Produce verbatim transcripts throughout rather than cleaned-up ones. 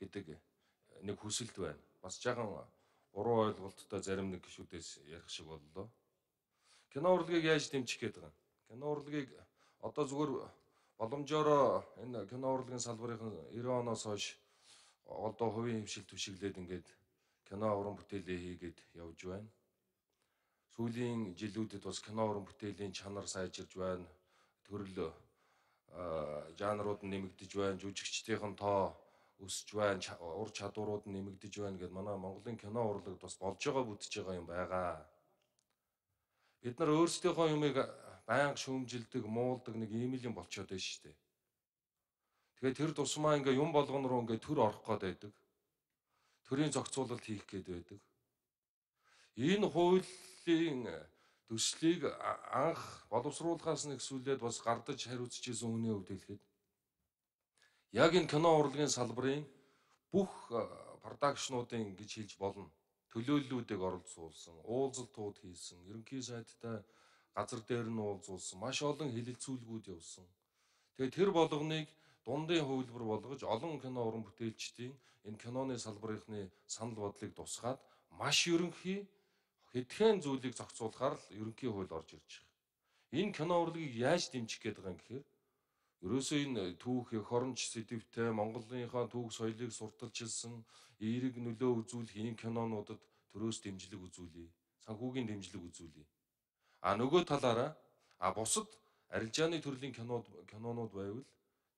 гэдэг нэг хүсэлт байна. Бас жаахан буруу ойлголттой зарим нэг гишүүдээс ярих шиг боллоо. Кино урлагийг яаж дэмжих гээд байгаа юм? Кино урлагийг одоо зүгээр боломжоор энэ кино урлагийн салбарын девяносто оноос хойш одоо хувийн хвшил түшиглээд ингээд кино уран бүтээлээ хийгээд явж байна. Сүүлийн жилүүдэд бас кино уран бүтээлийн чанар сайжирж байна. Төрөл жанрууд нь нэмэгдэж байна. Жүжигчдийн тоо өсөж байна. Ур чадварууд нь нэмэгдэж байна гэдээ манай Монголын кино урлагт бас болж байгаа бүтэж байгаа юм байгаа. Бид нар өөрсдийнхөө юмыг байнга шүүмжилдэг, муулдаг нэг ийм л юм болчиход байна шүү дээ. Тэгэхээр тэр тусмаа ингээ юм болгон руу ингээ төр орох гээд байдаг. Төрийн зохицуулалт хийх гээд байдаг. Энэ хуулийн төслийг анх боловсруулахаас нэгсүүлээд бас гардаж хариуцж исэн хүний хувьд хэлэхэд яг энэ кино урлагийн салбарын бүх продакшнуудын гэж хэлж болно. Төлөөллүүдийг оролцуулсан, уулзалтууд хийсэн, ерөнхий сайдтай газар дээр нь уулзуулсан, маш олон хэлэлцүүлгүүд явуулсан. Тэгээд тэр болгоныг дундын хувилбар болгож олон кино уран бүтээлчдийн энэ киноны салбарынхны санал бодлыг тусгаад маш ерөнхий хэдхэн зүйлийг зохицуулахаар л ерөнхий хууль орж ирж байгаа. Энэ кино урлагийг яаж дэмжих гээд байгаа юм гэхээр ерөөсөө энэ түүх, эх оронч сэдвтэй Монголынхаа түүх соёлыг сурталчилсан эерэг нөлөө үзүүлэх энэ кинонуудад төрөөс дэмжлэг үзүүлье. Санхүүгийн дэмжлэг үзүүлье. А нөгөө талаараа а бусад арилжааны төрлийн кинод кинонууд байвал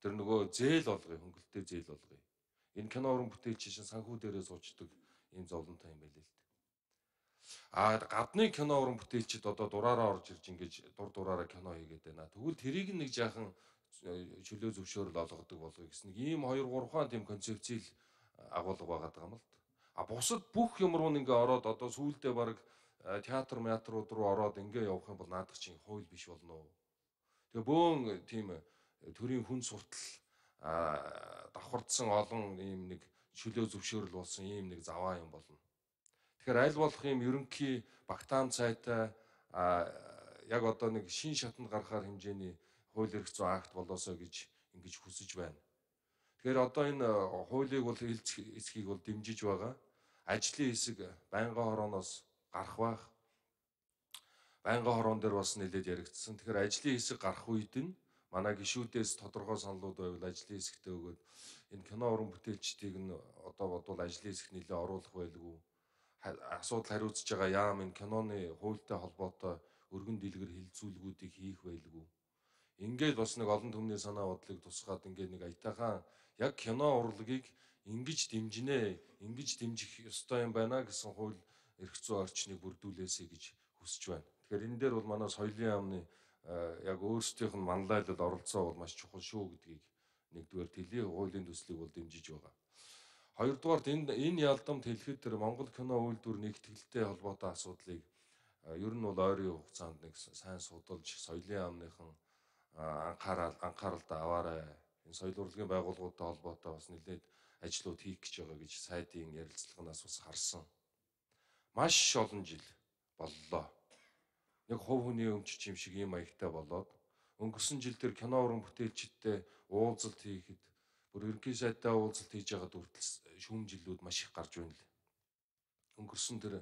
тэр нөгөө зээл болгоё, хөнгөлөлтөө зээл болгоё. Энэ кино уран бүтээлч шин санхүү дээрээ суучдаг ийм зовлонтой юм байл л дээ. А гадны кино уран бүтээлчид одоо дураараа орж ирж ингэж дур дураараа кино хийгээд байна. Тэгвэл тэрийг нэг жаахан чөлөө зөвшөөрөл олгодог болгоё гэсэн нэг ийм хоёр гурван тийм концепцийг агуулга байгаад байгаа юм л да. А бусад бүх юм руу ингээ ороод одоо сүүлдээ баг театр театрууд руу ороод ингээ явах юм бол наадах чинь хууль биш болно. Тэгээ бөөн тийм төрийн хүн суртал давхардсан олон ийм нэг чөлөө зөвшөөрөл болсон ийм нэг заваа юм болно. Тэгэхээр аль болох ийм ерөнхий багтаам цайтай яг одоо нэг шин шатанд гарахаар хэмжээний хууль эрх зүйн акт болоосоо гэж ингэж хүсэж байна. Тэгэхээр одоо энэ хуулийг бол эсхийг бол дэмжиж байгаа. Ажлын хэсэг байнгын хорооноос гарах байх. Байнгын хороон дээр бас нэлээд яригдсан. Тэгэхээр ажлын хэсэг гарах үед нь манай гишүүдээс тодорхой саналууд байвал ажлын хэсэгтээ өгөөд энэ кино уран бүтээлчдийг нь одоо бодвол ажлын хэсэг нэлээд оруулах байлгүй. Асуудал хариуцж байгаа яам энэ киноны хуультай холбоотой өргөн дэлгэр хилцүүлгүүдийг хийх байлгүй. Ингээд бас нэг олон түмний санаа бодлыг тусгаад ингээд нэг аятайхан яг кино урлагийг ингэж дэмжинэ, ингэж дэмжих ёстой юм байна гэсэн хууль эрх зүйн орчныг бүрдүүлээсэй гэж хүсэж байна. Тэгэхээр энэ дээр бол манай соёлын яамны яг өөрсдийнх нь манлайлал оролцоо бол маш чухал шүү гэдгийг нэгдүгээр хэлье, хуулийн төслийг бол дэмжиж байгаа. Хоёрдугаарт энэ энэ ялдамт хэлэхэд тэр Монгол кино үйлдвэр нэгтгэлтэй холбоотой асуудлыг ер нь бол ойрын хугацаанд нэг сайн судалж соёлын яамныхан анхаарал анхааралтай аваарай. Энэ соёл урлагийн байгууллагуудтай холбоотой бас нэлээд ажлууд хийх гэж байгаа гэж сайдын ярилцлаганаас бас харсан. Маш олон жил боллоо. Нэг хувь хүний өмчч юм шиг ийм маягтай болоод өнгөрсөн жил тэр кино уран бүтээлчдтэй уулзалт хийхэд бүр ерөнхий сайдтай уулзалт хийж байгаад хүртэл шүүмжлэлүүд маш их гарч байна л. Өнгөрсөн тэр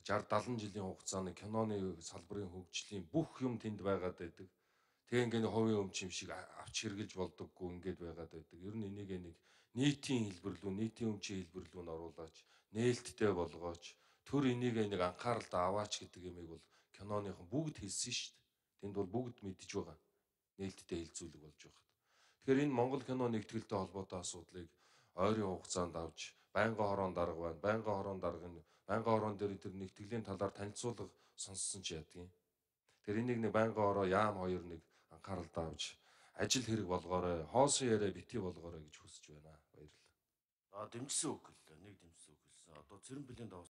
шард дадлан жилийн хугацааны киноны салбарын хөгжлийн бүх юм тэнд байгаад байдаг. Тэгээ ингээд хувийн өмч юм шиг авч хэрглэж болдоггүй ингээд байгаад байдаг. Ер нь энийг нэг нийтийн хэлбэрлүү, нийтийн өмчийн хэлбэрлүүнд оруулаач, нээлттэй болгооч, төр энийг нэг анхааралд аваач гэдэг юмыг бол киноныхон бүгд хэлсэн шүү дээ. Тэнд бол бүгд мэдж байгаа. Нээлттэй хэлцүүлэг болж байгаа. Тэгэхээр энэ Монгол кино нэгтгэлтэй холбоотой асуудлыг ойрын хугацаанд авч байнгын хорон дарга байна. Байнгын хорон даргын байнгын хорон дээр тэр нэгтгэлийн талаар танилцуулга сонссон ч ядгийн. Тэр энийг нэг байнгын хороо яам хоёр нэг анхааралтай авч ажил хэрэг болгоорой, хоосон яриа бити болгоорой гэж хүсэж байна. Баярлалаа. А дэмжсэн үг л нэг дэмжсэн үг хэлсэн. Одоо цэрэн бэлэн